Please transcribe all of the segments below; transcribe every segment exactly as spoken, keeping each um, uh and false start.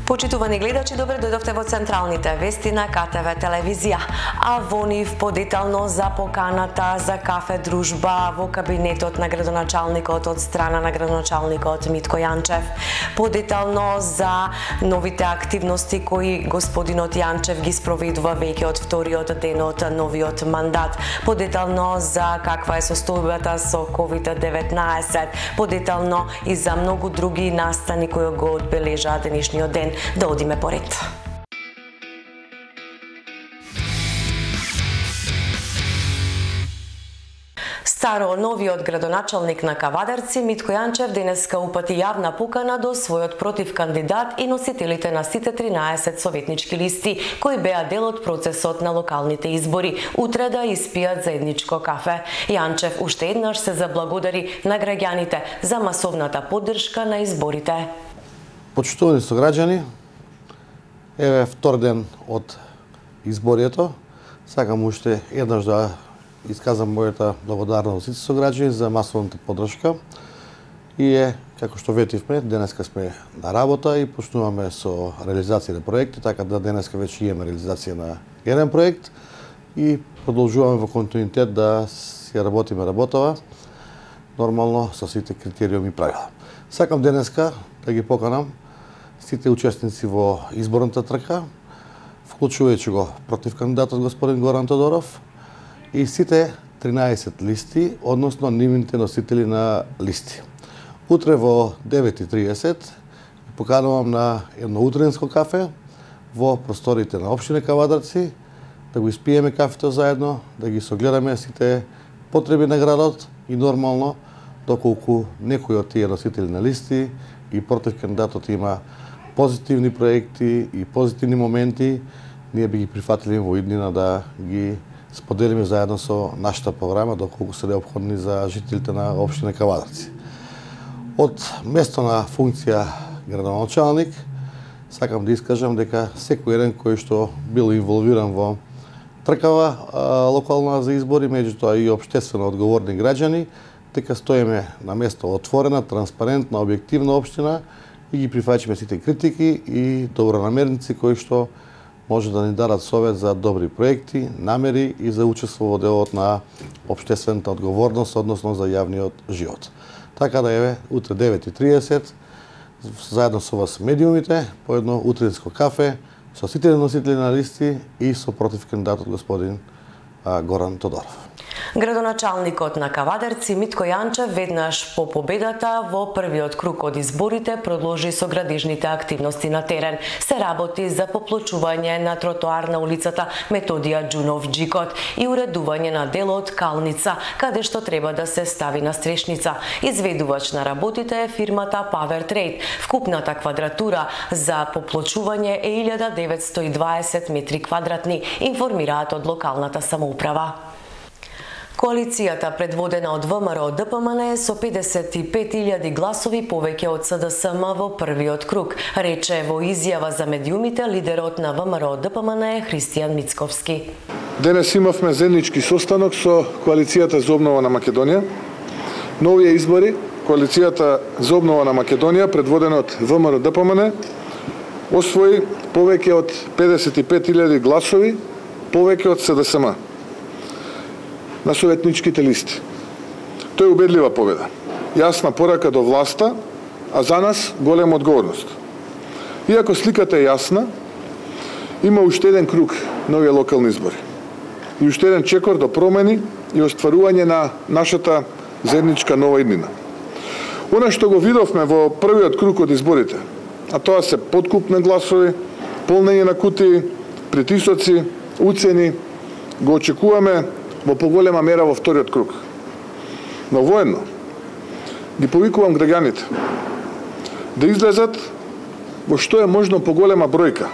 Почитувани гледачи, добре дојдовте во централните вести на К Т В телевизија. А во нив подетално за поканата за кафе дружба во кабинетот на градоначалникот од страна на градоначалникот Митко Јанчев. Подетално за новите активности кои господинот Јанчев ги спроведува веќе од вториот ден од новиот мандат. Подетално за каква е состојбата со ковид деветнаесет. Подетално и за многу други настани кои го одбележаа денешниот ден. Да одиме поред. Старо новиот градоначалник на Кавадарци Митко Јанчев денеска упати јавна покана до својот противкандидат и носителите на сите тринаесет советнички листи кои беа дел од процесот на локалните избори утре да испијат заедничко кафе. Јанчев уште еднаш се заблагодари на граѓаните за масовната поддршка на изборите. Почитувани сограѓани, еве втор ден од изборието, сакам уште еднаш да исказам мојата благодарност сите сограѓани за масовната поддршка и е, како што ветивме, денеска сме на работа и почнуваме со реализација на проекти, така да денеска веќе имаме реализација на еден проект и продолжуваме во континуитет да си работиме работава нормално со сите критериуми и правила. Сакам денеска да ги поканам сите учесници во изборната трка, вклучувајќи го против кандидатот господин Горан Тодоров и сите тринаесет листи, односно нивните носители на листи. Утре во девет и триесет поканувам на едно утренско кафе во просториите на општина Кавадарци, да го испиеме кафето заедно, да ги согледаме сите потреби на градот и нормално доколку некој од тие носители на листи и против кандидатот има позитивни проекти и позитивни моменти, ние би ги прифатили во иднина да ги споделиме заедно со нашата програма доколку се неопходни за жителите на општина Кавадарци. Од место на функција градоначалник сакам да искажам дека секој еден кој што бил инволвиран во тркава а, локална за избори, меѓутоа и општествено одговорни граѓани, дека стоиме на место отворена, транспарентна, објективна општина и ги прифаќаме сите критики и добронамерници кои што може да ни дадат совет за добри проекти, намери и за учество во делот на општествената одговорност, односно за јавниот живот. Така да еве, утре девет и триесет, заедно со вас медиумите, по едно утринско кафе, со сите носители на листи и со против кандидатот господин а, Горан Тодоров. Градоначалникот на Кавадарци Митко Јанчев веднаш по победата во првиот круг од изборите продолжи со градежните активности на терен. Се работи за поплочување на тротоар на улицата Методија Џунов Џикот и уредување на делот Калница, каде што треба да се стави настрешница. Изведувач на работите е фирмата Power Trade. Вкупната квадратура за поплочување е илјада деветсто и дваесет метри квадратни, информираат од локалната самоуправа. Коалицијата предводена од В М Р Д П М Н е со педесет и пет илјади гласови повеќе од С Д С М во првиот круг, рече во изјава за медиумите лидерот на В М Р Д П М Н Христијан Мицковски. Денес имавме заеднички состанок со Коалицијата за обнова на Македонија. На овие избори Коалицијата за обнова на Македонија, предводена од В М Р Д П М Н, освои повеќе од педесет и пет илјади гласови повеќе од С Д С М на советничките листи. Тоа е убедлива победа. Јасна порака до власта, а за нас голема одговорност. Иако сликата е јасна, има уште еден круг на овие локални избори. И уште еден чекор до промени и остварување на нашата заедничка нова иднина. Она што го видовме во првиот круг од изборите, а тоа се подкуп на гласови, полнење на кутии, притисоци, уцени, го очекуваме во поголема мера во вториот круг. Но воедно ги повикувам граѓаните да излезат во што е можно поголема бројка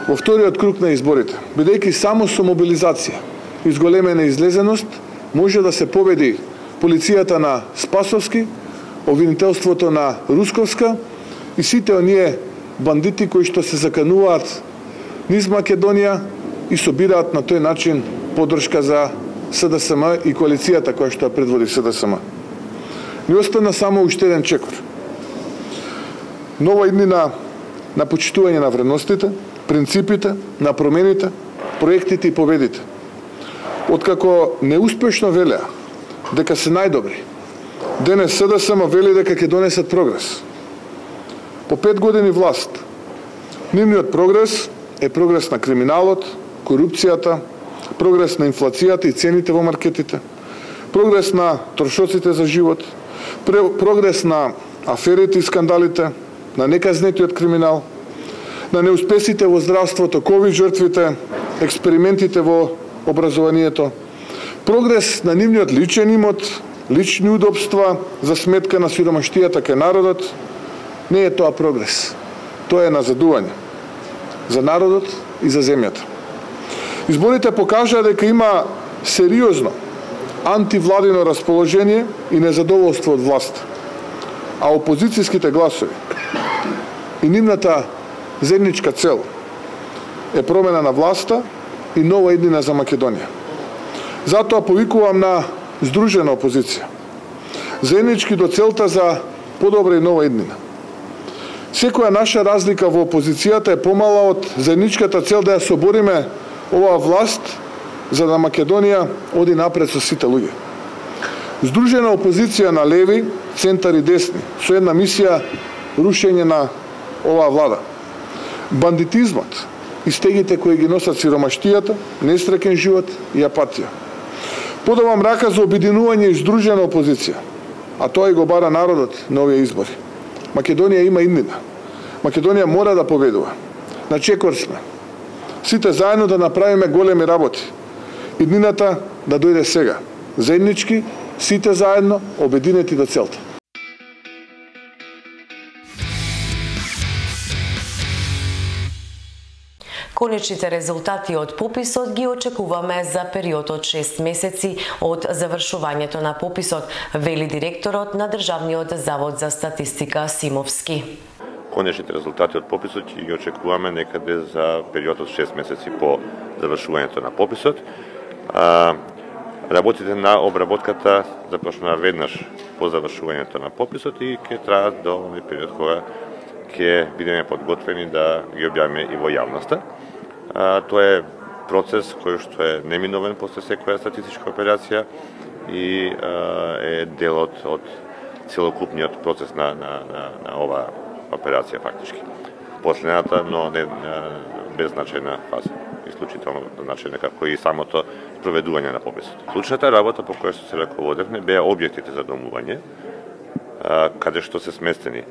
во вториот круг на изборите, бидејќи само со мобилизација и зголемена излезеност може да се победи полицијата на Спасовски, обвинителството на Русковска и сите оние бандити кои што се закануваат низ Македонија и собираат на тој начин поддршка за С Д С М и коалицијата која што ја предводи С Д С М. Ни остана само уште еден чекор. Нова иднина на почитување на вредностите, принципите, на промените, проектите и победите. Откако неуспешно велеа дека се најдобри, денес СДСМ вели дека ќе донесат прогрес. По пет години власт, нивниот прогрес е прогрес на криминалот, корупцијата, прогрес на инфлацијата и цените во маркетите, прогрес на трошоците за живот, прогрес на аферите и скандалите, на неказнетиот криминал, на неуспесите во здравството, ковид жртвите, експериментите во образованието, прогрес на нивниот личен имот, лични удобства за сметка на сиромаштијата кај народот. Не е тоа прогрес. Тоа е назадување за народот и за земјата. Изборите покажаа дека има сериозно антивладино расположение и незадоволство од власт, а опозицијските гласови и нивната заедничка цел е промена на власта и нова иднина за Македонија. Затоа повикувам на здружена опозиција, заеднички до целта за подобра и нова иднина. Секоја наша разлика во опозицијата е помала од заедничката цел да ја собориме оваа власт за да Македонија оди напред со сите луѓе. Здружена опозиција на леви, центар и десни, со една мисија рушење на оваа влада. Бандитизмот и стегите кои ги носат сиромаштијата, несреќен живот и апатија. Подавам рака за обединување и здружена опозиција, а тоа и го бара народот на овие избори. Македонија има иднина. Македонија мора да победува. На чекор сме. Сите заедно да направиме големи работи. Иднината да дојде сега. Заеднички, сите заедно, обединети до целта. Конечните резултати од пописот ги очекуваме за период од шест месеци од завршувањето на пописот, вели директорот на Државниот завод за статистика Симовски. Конечните резултати од пописот ги очекуваме некаде за период од шест месеци по завршувањето на пописот. Работите на обработката започнаа веднаш по завршувањето на пописот и ќе траат до овој период кога ќе бидеме подготвени да ги објавиме и во јавноста. Тоа е процес кој што е неминовен после секоја статистичка операција и е дел од, од целокупниот процес на, на, на, на оваа операција фактички. Последната, но не беззначајна фаза, исклучително значајна како и самото спроведување на пописот. Клучната работа по која што се раководевме беа објектите за домување, каде што се сместени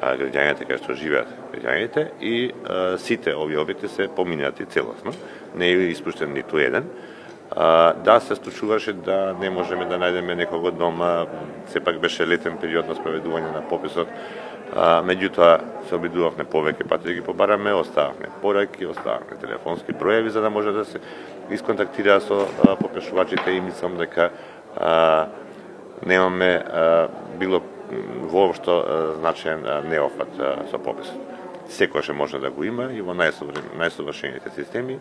граѓаните каде што живеат граѓаните и а, сите овие објекти се поминати целосно, не е испуштен ниту еден. А, да, се случуваше да не можеме да најдеме некого дома, сепак беше летен период на спроведување на пописот, а, меѓутоа се обидувавме повеќе пати да ги побараме, остававме пораки, остававме телефонски броеви за да може да се исконтактира со а, попишувачите и мислам дека а, немаме а, било воопшто значаен неофат со пописот. Секојаш може да го има и во најсовршените системи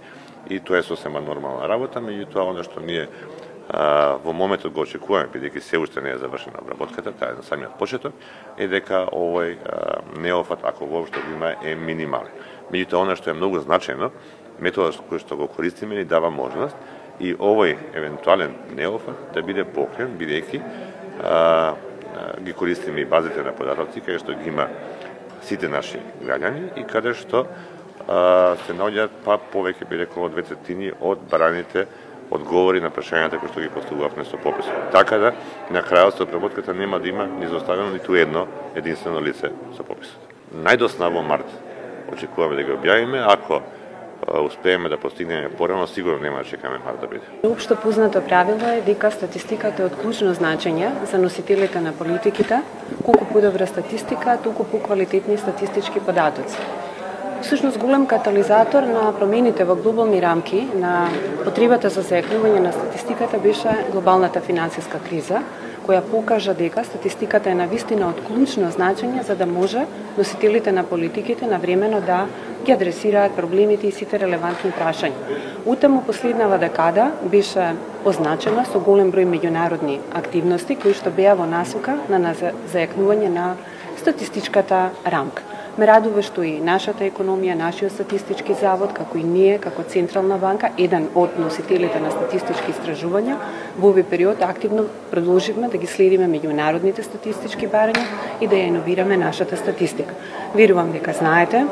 и тоа е сосема нормална работа, меѓутоа оно што ние а, во моментот го очекуваме, бидејќи се уште не е завршена обработката, таа е на самиот почеток, е дека овој а, неофат, ако воопшто го има, е минимален. Меѓутоа оно што е многу значајно, методот кој што го користиме ни дава можност и овој евентуален неофат да биде покрен, бидејќи ги користиме и базите на податоци каде што ги има сите наши граѓани и каде што а, се наоѓаат па повеќе би рекол од две третини од бараните одговори на прашањата кои што ги поставувавме со пописот. Така да на крајот со обработката нема да има ни зоставено ниту едно единствено лице со пописот. Најдосна во март очекуваме да ги објавиме, ако успееме да постигнеме порано, сигурно нема да чекаме март да биде. Општо познато правило е дека статистиката е од клучно значење за носителите на политиките, колку подобра статистика, толку поквалитетни статистички податоци. Всушност голем катализатор на промените во глобални рамки на потребата за заекнување на статистиката беше глобалната финансиска криза, која покажа дека статистиката е навистина од клучно значење за да може носителите на политиките навремено да ги адресираат проблемите и сите релевантни прашања. Утаму последнава декада беше позначена со голем број меѓународни активности кои што беа во насока на заекнување на статистичката рамка. Ме радува што и нашата економија, нашиот статистички завод, како и ние, како Централна банка, еден од носителите на статистички истражувања, во овој период активно продолживме да ги следиме меѓународните статистички барања и да ја иновираме нашата статистика. Верувам дека знаете,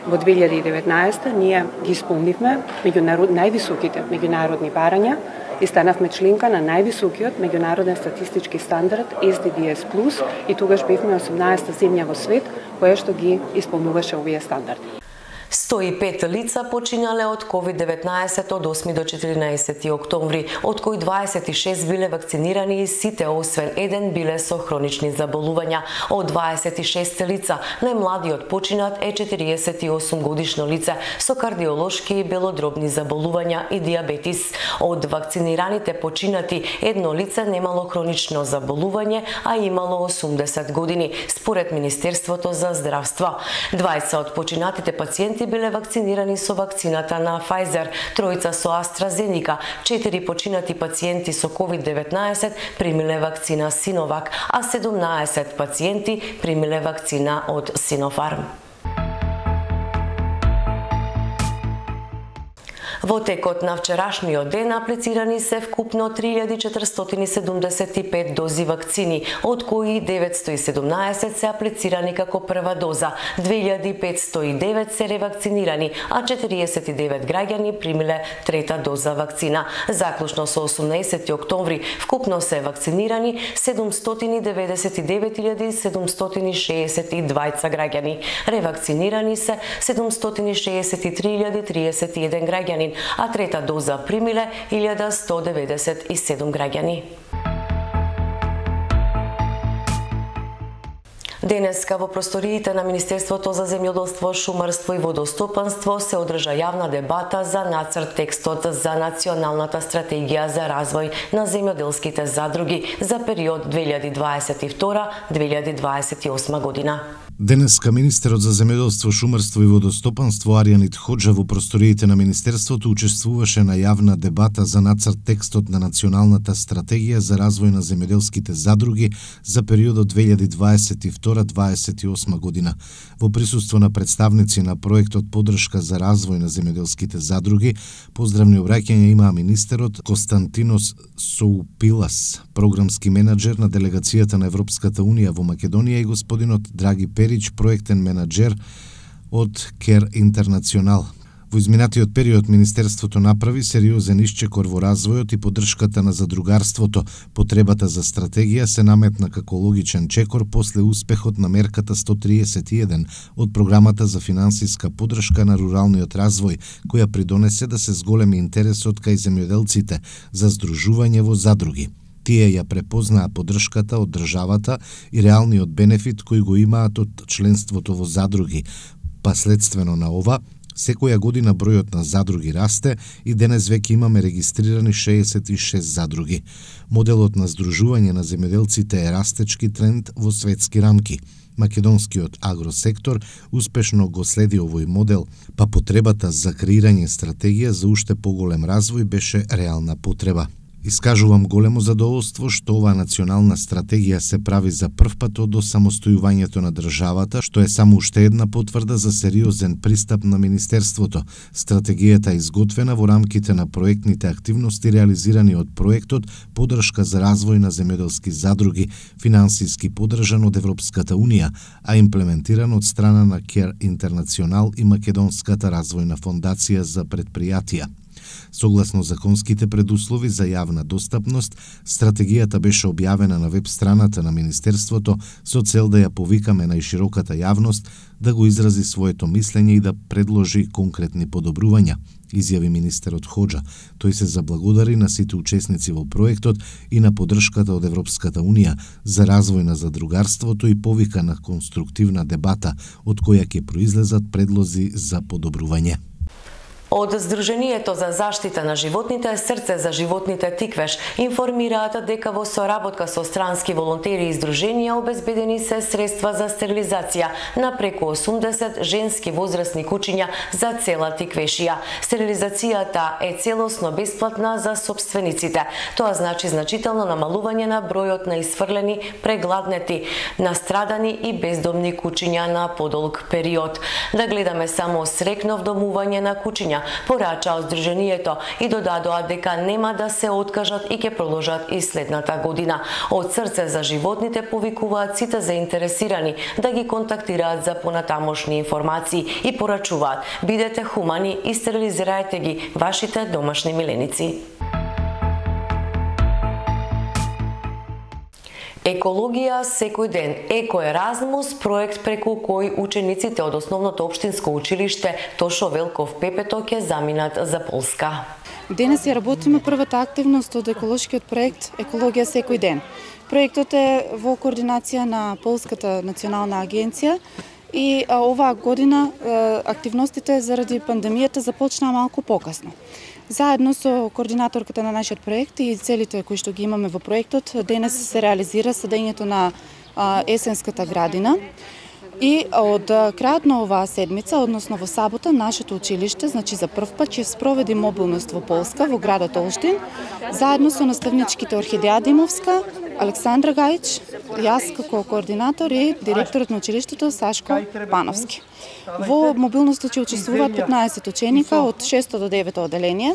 во две илјади и деветнаесетта ние ги исполнивме меѓународ највисоките меѓународни барања и станавме членка на највисокиот меѓународен статистички стандард Ес Ди Ди Ес плюс и тогаш бевме осумнаесетта земја во свет која што ги исполнуваше овие стандарди. сто и пет лица починале од ковид деветнаесет од осми до четиринаесети октомври, од кои дваесет и шест биле вакцинирани и сите освен еден биле со хронични заболувања. Од дваесет и шест лица, најмладиот починат е четириесет и осум годишно лице со кардиолошки и белодробни заболувања и диабетис. Од вакцинираните починати, едно лице немало хронично заболување, а имало осумдесет години, според Министерството за здравство. дваесет од починатите пациенти биле вакцинирани со вакцината на Pfizer, тројца со AstraZeneca, четири починати пациенти со ковид деветнаесет примиле вакцина Sinovac, а седумнаесет пациенти примиле вакцина од Sinopharm. Во текот на вчерашниот ден аплицирани се вкупно три илјади четиристотини седумдесет и пет дози вакцини, од кои деветсто и седумнаесет се аплицирани како прва доза, две илјади петсто и девет се ревакцинирани, а четириесет и девет граѓани примиле трета доза вакцина. Заклучно со осумнаесети октомври вкупно се вакцинирани седумстотини деветдесет и девет илјади седумстотини шеесет и двајца граѓани. Ревакцинирани се седумстотини шеесет и три илјади триесет и еден граѓани, а трета доза примиле илјада сто деведесет и седум граѓани. Денеска во просториите на Министерството за земјоделство, шумарство и водостопанство се одржа јавна дебата за нацрт текстот за Националната стратегија за развој на земјоделските задруги за период две илјади дваесет и втора - две илјади дваесет и осма година. Денеска министерот за земјоделство, шумарство и водостопанство Аријанит Хоџа во просториите на Министерството учествуваше на јавна дебата за нацрт текстот на Националната стратегија за развој на земјоделските задруги за периодот две илјади дваесет и втора - дваесет и осма година. Во присуство на представници на проектот Подршка за развој на земјоделските задруги, поздравни обраќања имаа министерот Константинос Соупилас, програмски менаџер на делегацијата на Европската унија во Македонија, и господинот Драги Перич, проектен менаџер од Кер Интернационал. Во изминатиот период Министерството направи сериозен исчекор во развојот и поддршката на задругарството. Потребата за стратегија се наметна како логичен чекор после успехот на мерката сто триесет и еден од програмата за финансиска поддршка на руралниот развој, која придонесе да се зголеми интересот кај земјоделците за здружување во задруги. Тие ја препознаа поддршката од државата и реалниот бенефит кој го имаат од членството во задруги. Последствено на ова, секоја година бројот на задруги расте и денес веќе имаме регистрирани шеесет и шест задруги. Моделот на здружување на земјоделците е растечки тренд во светски рамки. Македонскиот агросектор успешно го следи овој модел, па потребата за креирање стратегија за уште поголем развој беше реална потреба. Искажувам големо задоволство што оваа национална стратегија се прави за прв пат од осамостојувањето на државата, што е само уште една потврда за сериозен пристап на Министерството. Стратегијата е изготвена во рамките на проектните активности реализирани од проектот Подршка за развој на земјоделски задруги, финансиски поддржан од Европската унија, а имплементиран од страна на Кер Интернационал и Македонската развојна фондација за предпријатија. Согласно законските предуслови за јавна достапност, стратегијата беше објавена на веб страната на Министерството со цел да ја повикаме најшироката јавност да го изрази своето мислење и да предложи конкретни подобрувања, изјави министерот Хоџа. Тој се заблагодари на сите учесници во проектот и на поддршката од Европската унија за развој на задругарството и повика на конструктивна дебата од која ќе произлезат предлози за подобрување. Од Сдруженијето за заштита на животните Срце за животните Тиквеш информираат дека во соработка со странски волонтери и здруженија обезбедени се средства за стерилизација на преку осумдесет женски возрастни кучиња за цела Тиквешија. Стерилизацијата е целосно бесплатна за собствениците. Тоа значи значително намалување на бројот на исфрлени, прегладнети, настрадани и бездомни кучиња на подолг период. Да гледаме само срекно вдомување на кучиња, порача Сдруженијето и додадоа дека нема да се откажат и ќе продолжат и следната година. Од Срце за животните повикуваат сите заинтересирани да ги контактираат за понатамошни информации и порачуваат: бидете хумани и стерилизирајте ги вашите домашни миленици. Екологија секој ден. Еко Еразмус, проект преку кој учениците од основното општинско училиште Тошо Велков Пепето ќе заминат за Полска. Денес ја работиме првата активност од еколошкиот проект Екологија секој ден. Проектот е во координација на Полската национална агенција и а, оваа година а, активностите заради пандемијата започнаа малку покасно. Заедно со координаторката на нашиот проект и целите кои што ги имаме во проектот, денес се реализира садењето на а, есенската градина. И од крајот на оваа седмица, односно во сабота, нашето училиште, значи за прв пат, ќе спроведи мобилност во Полска, во градот Олштин, заедно со наставничките Орхидеја Димовска, Александра Гајич, јас како координатор и директорот на училиштето Сашко Пановски. Во мобилноста ќе учествуваат петнаесет ученика од шесто до девето оделение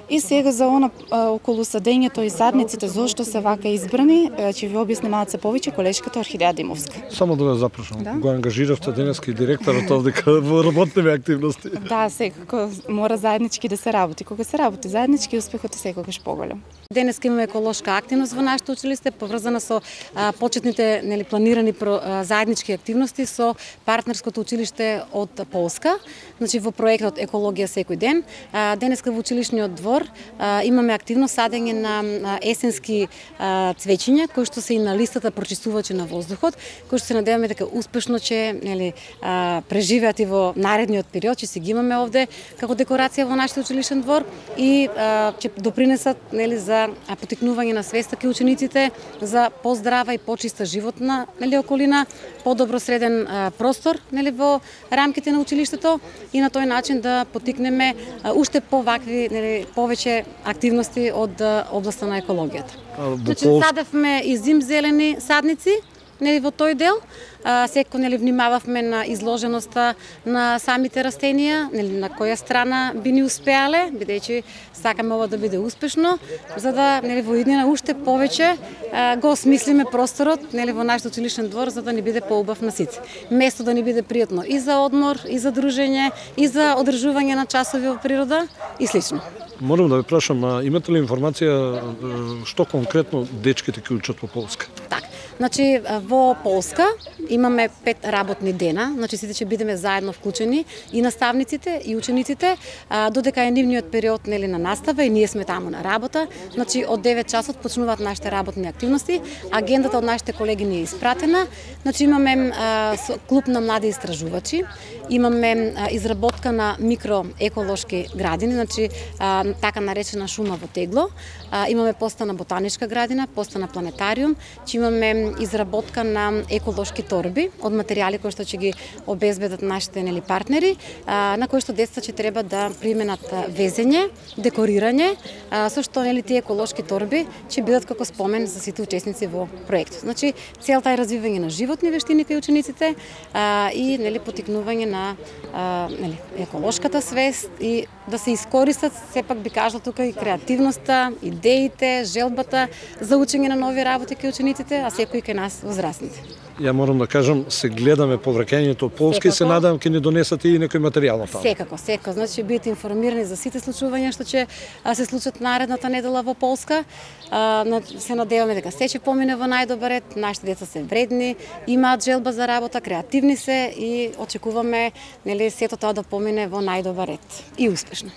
и сега за она околу садењето и садниците зошто се вака избрани, ќе ви објасни малце повеќе колешката Орхидеја Димовска. Само да ве запрашам, да? Го ангажиравте денески директорот овдека во работните активности? Да, секако мора заеднички да се работи. Кога се работи заеднички, успехот е секогаш поголем. Денес имаме еколошка активност во нашето училиште, поврзана со а, почетните нели, планирани про, а, заеднички активности со партнерското училиште од Полска, значи во проектот Екологија секој ден. А, денеска во училишниот двор а, имаме активно садење на а, есенски а, цвеќиња, кои што се и на листата прочистувачи на воздухот, кои што се надеваме дека успешно ќе нели, а, преживеат и во наредниот период, ќе си ги имаме овде како декорација во нашиот училишен двор и а, ќе допринесат нели, за потикнување на свеста кај учениците за поздрава и почиста животна нели околина, подобро среден а, простор нели во рамките на училиштето и на тој начин да потикнеме а, уште повакви нели повеќе активности од а, областа на екологијата. Значи садевме и зимзелени садници нели во тој дел. А, секој нели внимававме на изложеноста на самите растенија, нели на која страна би ни успеале, бидејќи сакаме ова да биде успешно, за да нели во иднина уште повеќе а, го осмислиме просторот нели во нашиот училишен двор за да ни биде поубав на сите. Место да ни биде пријатно и за одмор, и за дружење, и за одржување на часови во природа и слично. Морам да ве прашам, а имате ли информација што конкретно дечките ќе учат во Полска? Так, значи во Полска имаме пет работни дена, значи сите ќе бидеме заедно вклучени и наставниците и учениците, а, додека е нивниот период нели на настава и ние сме таму на работа. Значи од девет часот почнуваат нашите работни активности. Агендата од нашите колеги ни е испратена. Значи имаме а, клуб на млади истражувачи, имаме а, изработка на микроеколошки градини, значи а, така наречена шума во тегло. А, имаме поста на ботаничка градина, поста на планетариум, че имаме изработка на еколошки торби од материјали кои што ќе ги обезбедат нашите нели партнери, а, на кои што децата ќе треба да применат везење, декорирање, а, со што нели тие еколошки торби ќе бидат како спомен за сите учесници во проектот. Значи целта е развивање на животни вештини кај учениците а, и нели потикнување на а, нели еколошката свест и да се искористат, сепак би кажала тука и креативноста, идеите, желбата за учење на нови работи кај учениците, а секој кај нас возрастните. Ја морам да кажам, се гледаме повраќањето од Полска и се надевам ќе ни донесате и некој материјал на тоа. Секако, секако. Значи ќе бидете информирани за сите случувања што ќе се случат наредната недела во Полска. Се надеваме дека се ќе помине во најдобар ред. Нашите деца се вредни, имаат желба за работа, креативни се и очекуваме нели сето тоа да помине во најдобар ред и успешно.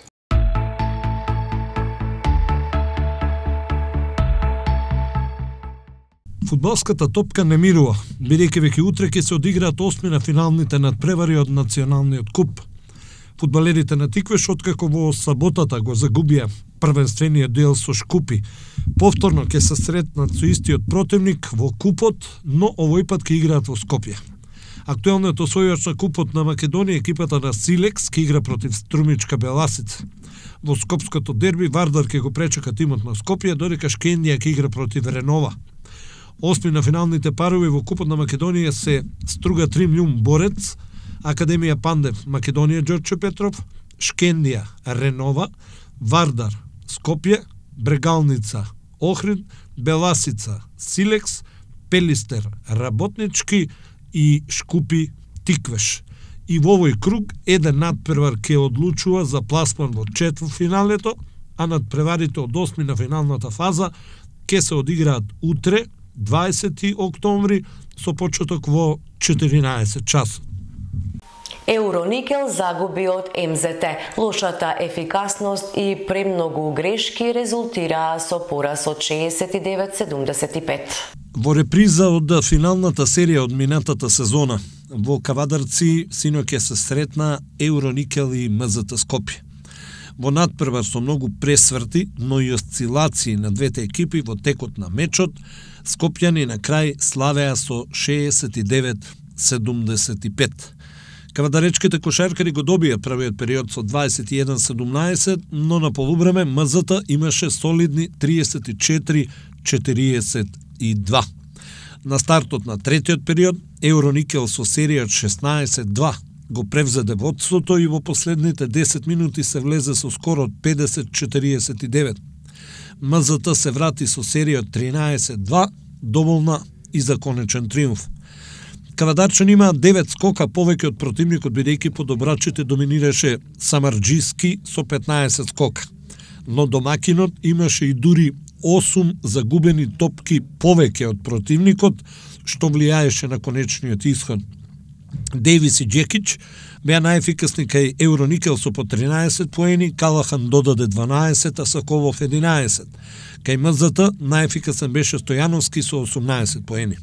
Фудбалската топка не мирува, бидејќи веќе утре ќе се одиграат осми на финалните надпревари од националниот куп. Фудбалерите на Тиквеш, откако во саботата го загубија првенствениот дуел со Шкупи, повторно ќе се сретнат со истиот противник во купот, но овој пат ќе играат во Скопје. Актуелниот освојач на купот на Македонија, екипата на Силекс, ќе игра против Струмичка Беласица. Во скопското дерби Вардар ќе го пречека тимот на Скопје, додека Шкендија ќе игра против Ренова. Осми на финалните парови во купот на Македонија се Струга Тримљум Борец, Академија Пандев Македонија Ѓорче Петров, Шкендија Ренова, Вардар Скопје, Брегалница Охрид, Беласица Силекс, Пелистер Работнички и Шкупи Тиквеш. И во овој круг еден надпревар ќе одлучува за пласман во четвртфиналето, а надпреварите од осми на финалната фаза ќе се одиграат утре, дваесети октомври, со почеток во четиринаесет часот. Евроникел загуби од Ем Зе Те. Лошата ефикасност и премногу грешки резултираа со пораз од шеесет и девет седумдесет и пет. Во реприза од финалната серија од минатата сезона, во Кавадарци синоќ се сретна Евроникел и Ем Зе Те Скопје. Во надпревар со многу пресврти, но и осцилации на двете екипи во текот на мечот, скопјани на крај славеа со шеесет и девет седумдесет и пет. Кавадаречките кошаркари го добија првиот период со дваесет и еден седумнаесет, но на полувреме Ем Зе Те имаше солидни триесет и четири четириесет и два. На стартот на третиот период, Евроникел со серија од шеснаесет два го превзеде водството и во последните десет минути се влезе со скоро од педесет четириесет и девет. Ем Зе Те се врати со серија од тринаесет два, доволна и за конечен триумф. Кавадарчан има девет скока повеќе од противникот, бидејќи по добрачите доминираше Самарџиски со петнаесет скока. Но домакинот имаше и дури осум загубени топки повеќе од противникот, што влијаеше на конечниот исход. Дейвис и Джекич беа најефикасни кај Евроникел со по тринаесет поени, Калахан додаде дванаесет, а Соколов единаесет. Кај Ем Зе Те најефикасен беше Стојановски со осумнаесет поени.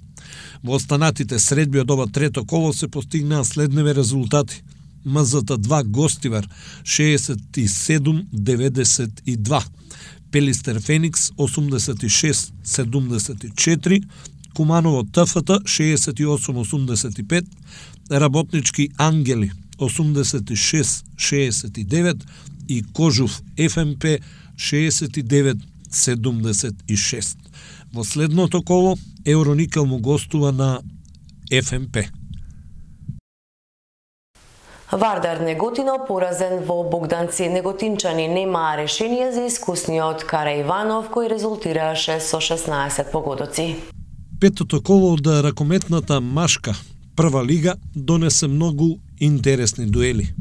Во останатите средби од ова трето коло се постигнаа следниве резултати. Ем Зе Те два Гостивар шеесет и седум деветдесет и два, Пелистер Феникс осумдесет и шест седумдесет и четири, Куманово Т Ф Т шеесет и осум осумдесет и пет, Работнички Ангели осумдесет и шест шеесет и девет и Кожув Ф М П шеесет и девет седумдесет и шест. Во следното коло Евроникел му гостува на Ф М П. Вардар Неготино поразен во Богданци. Неготинчани немаа решение за искусниот Караиванов, кој резултираше со шеснаесет погодоци. Петото коло од ракометната машка прва лига донесе многу интересни дуели.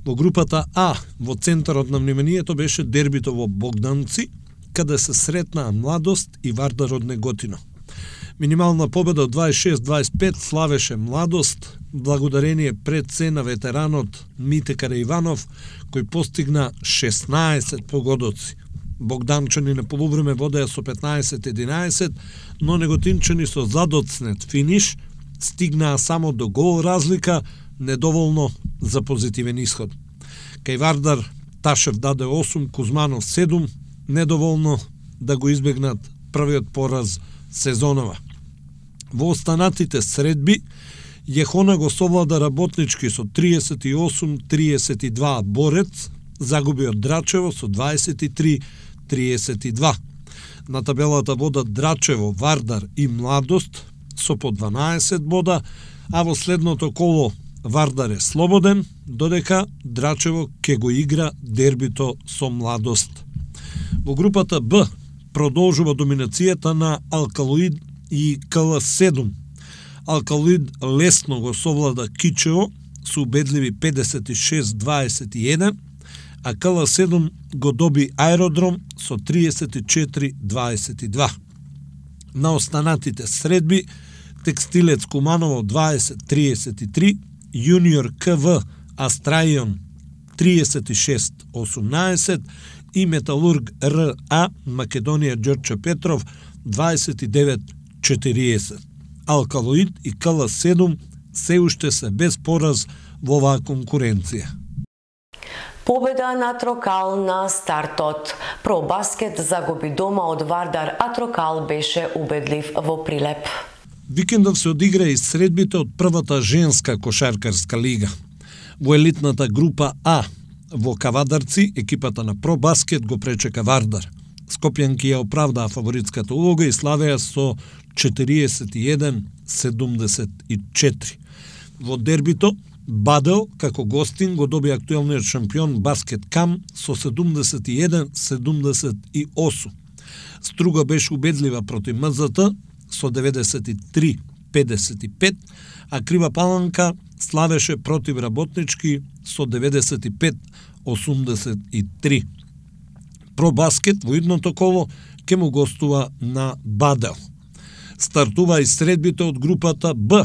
Во групата А, во центарот на вниманието беше дербито во Богданци, каде се сретнаа Младост и Вардар од Неготино. Минимална победа од дваесет и шест дваесет и пет славеше Младост, благодарение пред се на ветеранот Мите Караиванов, кој постигна шеснаесет погодоци. Богданчани на полувреме водеа со петнаесет единаесет, но неготинчани со задоцнет финиш стигнаа само до гол разлика, недоволно за позитивен исход. Кај Вардар Ташев даде осум, Кузманов седум, недоволно да го избегнат првиот пораз сезонова. Во останатите средби, Јехона го совлада Работнички со триесет и осум триесет и два, Борец загуби од Драчево со дваесет и три триесет и два. На табелата водат Драчево, Вардар и Младост со по дванаесет бода, а во следното коло Вардар е слободен, додека Драчево ќе го игра дербито со Младост. Во групата Б продолжува доминацијата на Алкалоид и К Л седум. Алкалоид лесно го совлада Кичево со убедливи педесет и шест дваесет и еден, а К Л седум го доби Аеродром со триесет и четири дваесет и два. На останатите средби Текстилец Куманово дваесет триесет и три, Јуниор К В Астраион триесет и шест осумнаесет и Металург Р А Македонија Ѓорче Петров дваесет и девет четириесет. Алкалоид и К Л седум се уште се без пораз во оваа конкуренција. Победа на Трокал на стартот. Про баскет загуби дома од Вардар, а Трокал беше убедлив во Прилеп. Викендов се одигра и средбите од првата женска кошаркарска лига. Во елитната група А, во Кавадарци, екипата на Про Баскет го пречека Вардар. Скопјанки ја оправдаа фаворитската улога и славеа со четириесет и еден седумдесет и четири. Во дербито, Бадел, како гостин, го доби актуелниот шампион Баскет Кам со седумдесет и еден седумдесет и осум. Струга беше убедлива против МЗТ со деветдесет и три педесет и пет, а Крива Паланка славеше против Работнички со деветдесет и пет осумдесет и три. Про Баскет во идното коло ќе му гостува на Бадел. Стартува и средбите од групата Б.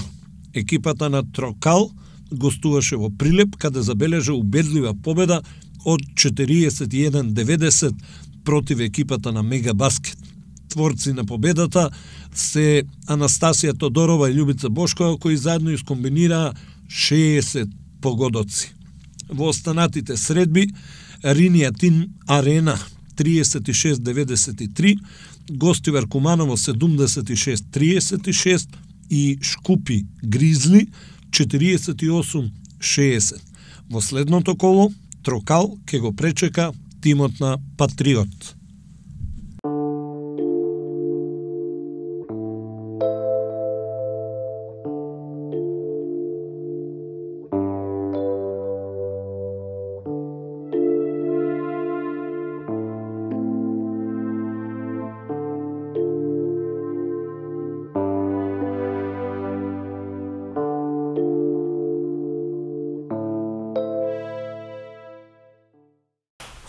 Екипата на Трокал гостуваше во Прилеп, каде забележа убедлива победа од четириесет и еден деветдесет против екипата на Мега Баскет. Творци на победата се Анастасија Тодорова и Љубица Бошкова, кои заедно искомбинираа шеесет погодоци. Во останатите средби, Ринија Тин Арена триесет и шест деветдесет и три, Гостивар Куманово седумдесет и шест триесет и шест и Шкупи Гризли четириесет и осум шеесет. Во следното коло, Трокал ќе го пречека тимот на Патриот.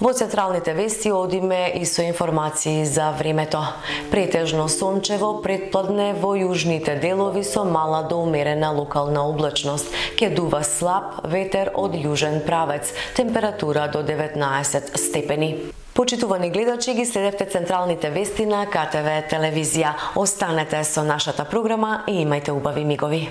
Во централните вести одиме и со информации за времето. Претежно сончево, претпладне во јужните делови со мала до умерена локална облачност. Ке дува слаб ветер од јужен правец, температура до деветнаесет степени. Почитувани гледачи, ги следевте централните вести на ка те ве телевизија. Останете со нашата програма и имајте убави мигови.